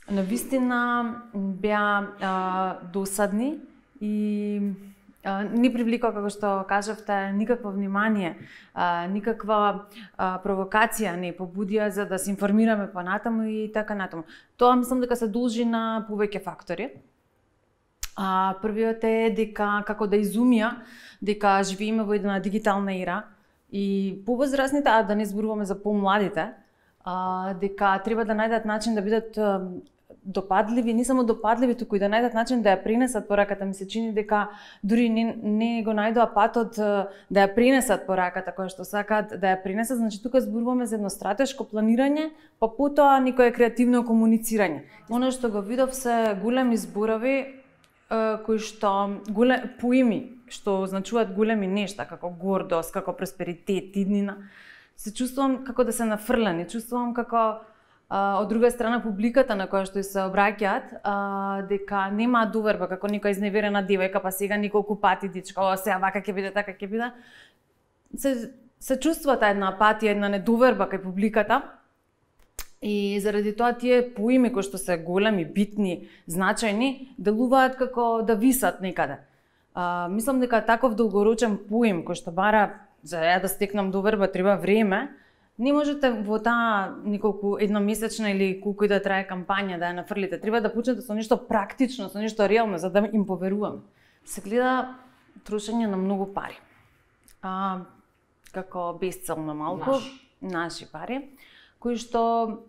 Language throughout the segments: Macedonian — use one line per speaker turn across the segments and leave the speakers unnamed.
навистина беа досадни и не привлека, како што кажавте, никакво внимание, никаква провокација не побудија за да се информираме понатаму и така натаму. Тоа мислам дека се должи на повеќе фактори. Првиот е дека како да изумија дека живееме во една дигитална ера и повозрасните, да не зборуваме за помладите, дека треба да најдат начин да бидат допадливи, не само допадливи, туку и да најдат начин да ја пренесат пораката. Ми се чини дека дури не го најдоа патот да ја пренесат пораката која што сакаат да ја пренесат. Значи тука зборуваме за едно стратешко планирање, па потоа некое креативно комуницирање. Оно што го видов се големи зборови кои што поими што означуваат големи нешта, како гордост, како просперитет, иднина. Се чувствувам како да се нафрлени, чувствувам како од друга страна публиката на која што се обраќаат дека нема доверба, како некоја изневерена девојка, па сега неколку пати дичко, сега вака ќе биде, така ќе биде. Се чувствува таа една апатија, една недоверба кај публиката. И заради тоа тие поими кои што се големи, битни, значајни, делуваат како да висат некаде. Мислам дека таков долгорочен поим кој што бара за ја да стекнам доверба треба време, не можете во таа неколку едномесечна или колку и да трае кампања да ја нафрлите. Треба да почнете со нешто практично, со нешто реално, за да им поверуваме. Се гледа трошење на многу пари. Како безцелно малку, наши пари, кои што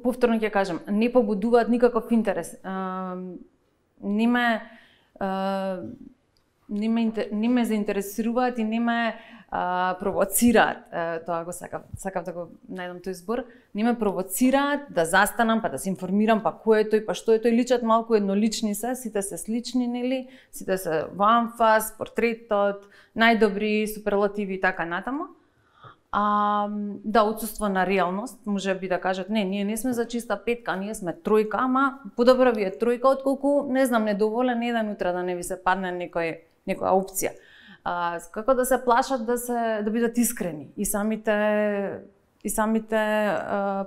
повторно ќе кажам, не побудуваат никаков интерес. Не ме заинтересуваат и не ме провоцираат, тоа го сакав да го најдам тој збор, не ме провоцираат да застанам, па да се информирам, па кој е тој, па што е тој, личат малку еднолични се, сите се слични, нели? Сите се во анфас, портретот, најдобри суперлативи и така натаму. Да, отсуство на реалност, може би да кажат, ние не сме за чиста петка, ние сме тројка, ама подобро ви е тројка, отколку, не знам, недоволен еден утре да не ви се падне некоја опција. Како да се плашат да бидат искрени и самите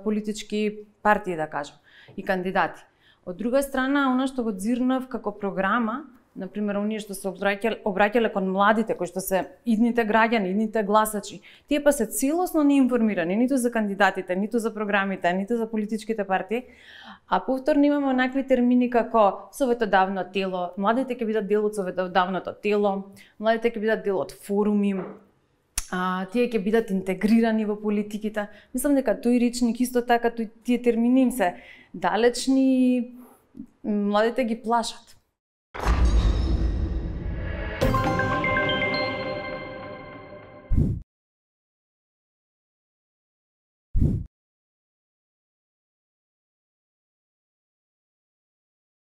политички партии, да кажам, и кандидати. Од друга страна, она што го дзирнав како програма, например, оние што се обраќале кон младите, кои што се идните граѓани, идните гласачи, тие па се целосно неинформирани, ниту за кандидатите, ниту за програмите, ниту за политичките партии, а повторно имаме онакви термини како советодавно тело, младите ќе бидат дел од советодавното тело, младите ќе бидат дел од форуми, тие ќе бидат интегрирани во политиките. Мислам дека тој речник исто така, тие термини им се далечни, младите ги плашат.